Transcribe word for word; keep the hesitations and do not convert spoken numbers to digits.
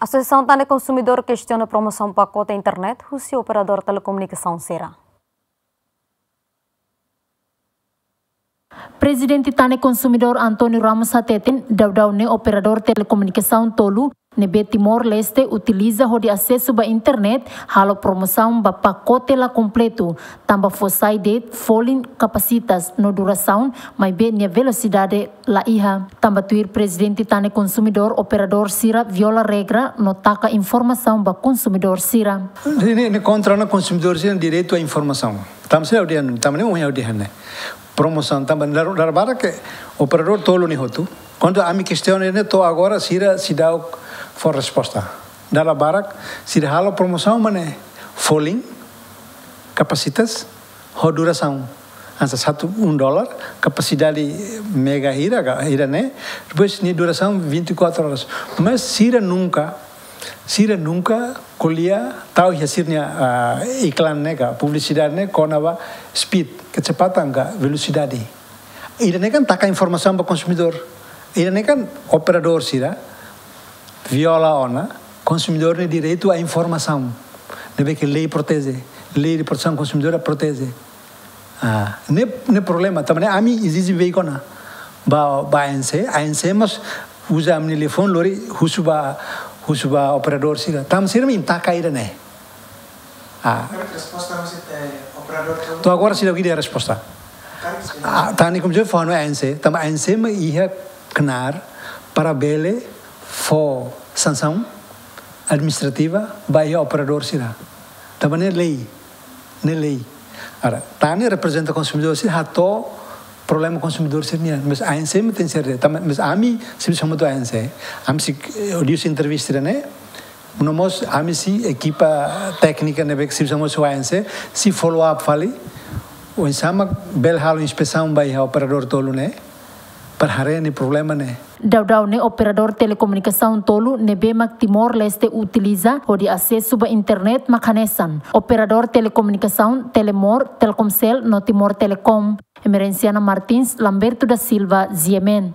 Asosiasaun Tan Ne'e Konsumidór kestiona promosaun pakote internet husi operadór telekomunikasaun sira. Prezidente Tan Ne'e Konsumidór António Ramos hateten, daudaun ne'e operadór telekomunikasaun tolu ne'ebé Timor-Leste utiliza hodi asesu ba internet halo promosaun ba pakote la kompletu, tanba fó sai de'it folin, kapasitas no durasaun, maibé nia velosidade la iha. Tanba tuir Prezidente Tan Ne'e Konsumidór, operadór sira viola regra no taka informasaun ba konsumidór sira. Ne'e, ne'e kontra ona konsumidór sira direitu a informasaun. Tanba sira ha'u dehan, tanba ne'e ohin ha'u dehan ne'e. Promosaun tanba dala, dala barak ke operadór tolu ne'e hotu. Kuandu ami kestiona ne'e to'o agora sira seidauk fó resposta. Dala barak sira halo promosaun mak ne'e folin, kapasitas, ho durasaun. Hanesan satu, um dólar, kapasidade mega hira ka, hira ne'e, depois nia durasaun vinte e quatro horas. Mas sira nunka, sira nunka ko'alia, tau iha sira-nia, ah, iklan ne'e ka, publisidade ne'e kona-ba speed, kecepatan ka velosidade. Ida-ne'e kan taka informasaun ba konsumidór. Ida-ne'e kan operadór sira viola ona konsumidór nia direitu a informasaun ne'ebé ke lei proteje, Lei de Protesaun Konsumidór proteje. Ah, ne'e, ne'e problema. Tanba ne'e ami ezije beik ona ba, ba A N C, A N C mós uza ami-nia telefone lori husu ba, husu ba operadór sira. Tanba sira mak taka ida-ne'e. Ah. Karik resposta husi, eh, operadór tolu? To'o agora seidauk iha resposta. Karik sira? Ah, Tan Ne'e Konsumidór fó hanoin A N C, tanba A N C mak iha knaar para bele fó sansaun administrativa ba iha operadór sira. Tanba ne'e lei, ne'e lei. Agora, Tan Ne'e reprezenta konsumidór sira, hato'o problema konsumidór sira-nian. Mas A N C mak tenke ser, tanba, mas ami servisu hamutuk ho A N C. Ami sei, eh, liuhusi entrevista ida-ne'e, no mós ami sei ekipa téknika ne'ebé ke servisu hamutuk ho A N C, sei follow up fali, oinsá mak bele halo inspesaun ba iha operadór tolu ne'e, para haree nia problema ne'e. Daudaun ne'e operadór telekomunikasaun tolu ne'ebé mak Timor-Leste utiliza hodi asesu ba internet mak hanesan operadór telekomunikasaun Telemor, Telkomcel no Timor Telecom. Emerenciana Martins, Lamberto da Silva, G M N.